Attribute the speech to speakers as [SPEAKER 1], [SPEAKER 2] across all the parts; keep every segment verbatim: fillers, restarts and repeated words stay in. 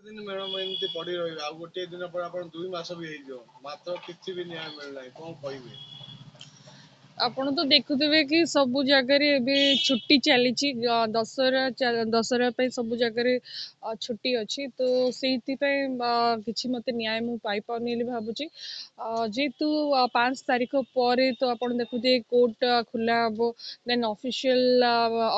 [SPEAKER 1] ଦିନ ମ୍ୟାଡ଼ାମ ଏମିତି ପଡି ରହିବେ? ଆଉ ଗୋଟିଏ ଦିନ ପରେ ଆପଣ ଦୁଇ ମାସ ବି ହେଇଯିବ, ମାତ୍ର କିଛି ବି ନ୍ୟାୟ ମିଳୁନାହିଁ, କଣ କହିବେ?
[SPEAKER 2] ଆପଣ ତ ଦେଖୁଥିବେ କି ସବୁ ଜାଗାରେ ଏବେ ଛୁଟି ଚାଲିଛି, ଦଶହରା, ଦଶହରା ପାଇଁ ସବୁ ଜାଗାରେ ଛୁଟି ଅଛି। ତ ସେଇଥିପାଇଁ କିଛି ମୋତେ ନ୍ୟାୟ ମୁଁ ପାଇପାରୁନି ବୋଲି ଭାବୁଛି। ଯେହେତୁ ପାଞ୍ଚ ତାରିଖ ପରେ ତ ଆପଣ ଦେଖୁଥିବେ କୋର୍ଟ ଖୋଲା ହେବ, ଦେନ୍ ଅଫିସିଆଲ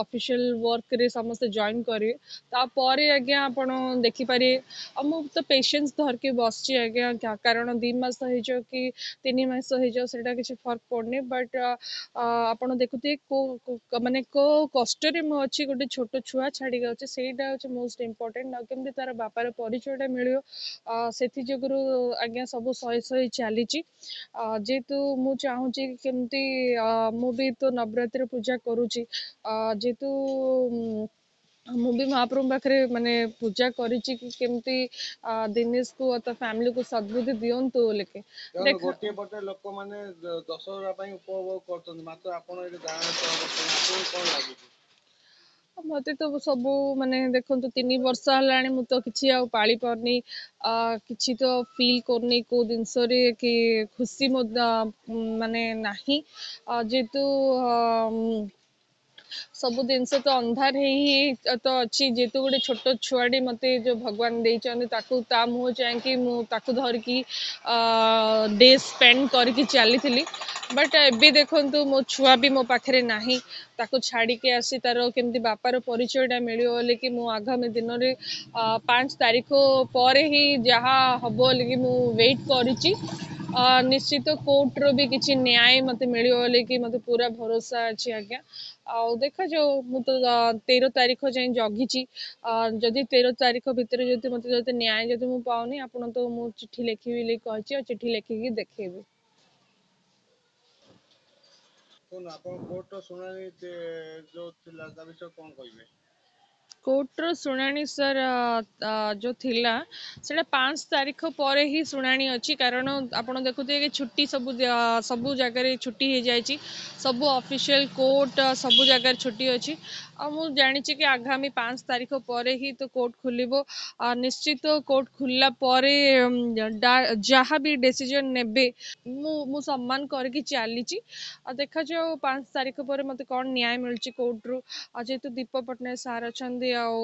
[SPEAKER 2] ଅଫିସିଆଲ ୱାର୍କରେ ସମସ୍ତେ ଜଏନ୍ କରିବେ, ତାପରେ ଆଜ୍ଞା ଆପଣ ଦେଖିପାରିବେ। ଆଉ ମୁଁ ତ ପେସେନ୍ସ ଧରିକି ବସିଛି ଆଜ୍ଞା, କାରଣ ଦୁଇ ମାସ ହେଇଯାଉ କି ତିନି ମାସ ହେଇଯାଉ ସେଇଟା କିଛି ଫରକ ପଡ଼ୁନି। ବଟ୍ ଆପଣ ଦେଖୁଥିବେ କୋଉ ମାନେ କୋଉ କଷ୍ଟରେ ମୁଁ ଅଛି, ଗୋଟେ ଛୋଟ ଛୁଆ ଛାଡ଼ିକି ଅଛି, ସେଇଟା ହେଉଛି ମୋଷ୍ଟ ଇମ୍ପୋର୍ଟାଣ୍ଟ। ଆଉ କେମିତି ତାର ବାପାର ପରିଚୟଟା ମିଳିବ, ସେଥି ଯୋଗୁରୁ ଆଜ୍ଞା ସବୁ ସହି ସହି ଚାଲିଛି। ଯେହେତୁ ମୁଁ ଚାହୁଁଛି କେମିତି ମୁଁ ବି ତ ନବରାତ୍ରି ପୂଜା କରୁଛି, ଯେହେତୁ ମୁଁ ବି ମହାପ୍ରଭୁଙ୍କ ପାଖରେ ମାନେ ପୂଜା କରିଛି କି କେମିତି ଦିନେଶକୁ ଆଉ ତା ଫ୍ୟାମିଲିକୁ ସଦ୍ବୁଦ୍ଧି ଦିଅନ୍ତୁ ବୋଲିକି।
[SPEAKER 1] ଦେଖ, ଗୋଟିଏ ପଟେ ଲୋକମାନେ ଦଶହରା ପାଇଁ ଉପଭୋଗ କରୁଛନ୍ତି, ମାତ୍ର ଆପଣ ଏଠି ଆପଣଙ୍କୁ କଣ ଲାଗୁଛି?
[SPEAKER 2] ମତେ ତ ସବୁ ମାନେ ଦେଖନ୍ତୁ, ତିନି ବର୍ଷ ହେଲାଣି ମୁଁ ତ କିଛି ଆଉ ପାଳି ପାରୁନି, କିଛି ତ ଫିଲ୍ କରୁନି କୋଉ ଜିନିଷରେ କି ଖୁସି ମଧ୍ୟ ମାନେ ନାହିଁ। ଯେହେତୁ ସବୁ ଜିନିଷ ତ ଅନ୍ଧାର ହେଇ ହିଁ ତ ଅଛି। ଯେହେତୁ ଗୋଟେ ଛୋଟ ଛୁଆଟି ମୋତେ ଯୋଉ ଭଗବାନ ଦେଇଛନ୍ତି, ତାକୁ ତା ମୁହଁ ଚାହିଁକି ମୁଁ ତାକୁ ଧରିକି ଡେ ସ୍ପେଣ୍ଡ କରିକି ଚାଲିଥିଲି। ବଟ୍ ଏବେ ଦେଖନ୍ତୁ, ମୋ ଛୁଆ ବି ମୋ ପାଖରେ ନାହିଁ। ତାକୁ ଛାଡ଼ିକି ଆସି ତାର କେମିତି ବାପାର ପରିଚୟଟା ମିଳିବ ବୋଲିକି ମୁଁ ଆଗାମୀ ଦିନରେ ପାଞ୍ଚ ତାରିଖ ପରେ ହିଁ ଯାହା ହବ ବୋଲିକି ମୁଁ ୱେଟ୍ କରିଛି। ନିଶ୍ଚିତ କୋର୍ଟର ବି କିଛି ନ୍ୟାୟ ମୋତେ ମିଳିବ ବୋଲିକି ମୋତେ ପୁରା ଭରସା ଅଛି ଆଜ୍ଞା। ଆଉ ଦେଖାଯାଉ, ମୁଁ ତ ତେର ତାରିଖ ଯାଏଁ ଜଗିଛି। ଯଦି ତେର ତାରିଖ ଭିତରେ ଯଦି ମୋତେ ଯଦି ନ୍ୟାୟ ଯଦି ମୁଁ ପାଉନି, ଆପଣ ତ ମୁଁ ଚିଠି ଲେଖିବି ବୋଲି କହିଛି ଆଉ ଚିଠି ଲେଖିକି ଦେଖେଇବି।
[SPEAKER 1] ଆପଣ କୋର୍ଟର ଶୁଣାଣି ଯୋଉ ଥିଲା ତା ବିଷୟରେ କଣ କହିବେ?
[SPEAKER 2] କୋର୍ଟର ଶୁଣାଣି ସାର୍ ଯୋଉ ଥିଲା, ସେଇଟା ପାଞ୍ଚ ତାରିଖ ପରେ ହିଁ ଶୁଣାଣି ଅଛି। କାରଣ ଆପଣ ଦେଖୁଥିବେ କି ଛୁଟି ସବୁ ସବୁ ଜାଗାରେ ଛୁଟି ହେଇଯାଇଛି, ସବୁ ଅଫିସିଆଲ କୋର୍ଟ ସବୁ ଜାଗାରେ ଛୁଟି ଅଛି। ଆଉ ମୁଁ ଜାଣିଛି କି ଆଗାମୀ ପାଞ୍ଚ ତାରିଖ ପରେ ହିଁ ତ କୋର୍ଟ ଖୋଲିବ। ନିଶ୍ଚିତ କୋର୍ଟ ଖୋଲିଲା ପରେ ଯାହା ବି ଡିସିଜନ ନେବେ ମୁଁ ମୁଁ ସମ୍ମାନ କରିକି ଚାଲିଛି। ଆଉ ଦେଖାଯାଉ ପାଞ୍ଚ ତାରିଖ ପରେ ମୋତେ କ'ଣ ନ୍ୟାୟ ମିଳୁଛି କୋର୍ଟରୁ। ଆଉ ଯେହେତୁ ଦୀପକ ପଟ୍ଟନାୟକ ସାର୍ ଅଛନ୍ତି ଆଉ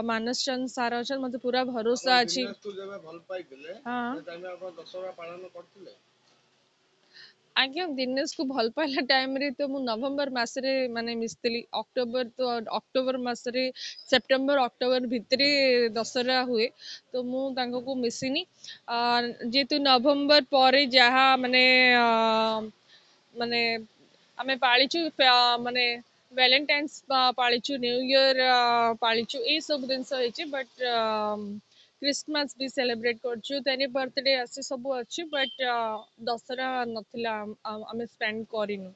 [SPEAKER 2] ମାନସ ଚନ୍ଦ ସାର୍ ଅଛନ୍ତି, ମୋତେ ପୁରା ଭରସା ଅଛି।
[SPEAKER 1] ଭଲ ପାଇଥିଲେ ଆପଣ ଦଶହରା ପାଳନ କରିଥିଲେ?
[SPEAKER 2] ଆଜ୍ଞା, ଦିନେଶକୁ ଭଲ ପାଇଲା ଟାଇମ୍ରେ ତ ମୁଁ ନଭେମ୍ବର ମାସରେ ମାନେ ମିଶିଥିଲି। ଅକ୍ଟୋବର ତ ଅକ୍ଟୋବର ମାସରେ, ସେପ୍ଟେମ୍ବର ଅକ୍ଟୋବର ଭିତରେ ଦଶହରା ହୁଏ, ତ ମୁଁ ତାଙ୍କକୁ ମିଶିନି। ଯେହେତୁ ନଭେମ୍ବର ପରେ ଯାହା ମାନେ ମାନେ ଆମେ ପାଳିଛୁ, ମାନେ ଭ୍ୟାଲେଣ୍ଟାଇନ୍ସ ପାଳିଛୁ, ନ୍ୟୁ ଇୟର ପାଳିଛୁ, ଏଇସବୁ ଜିନିଷ ହେଇଛି। ବଟ୍ କ୍ରିସମାସ ବି ସେଲିବ୍ରେଟ୍ କରୁଛୁ, ତେନି ବର୍ଥଡେ ଆସି ସବୁ ଅଛି, ବଟ୍ ଦଶହରା ନଥିଲା, ଆମେ ସ୍ପେଣ୍ଡ କରିନୁ।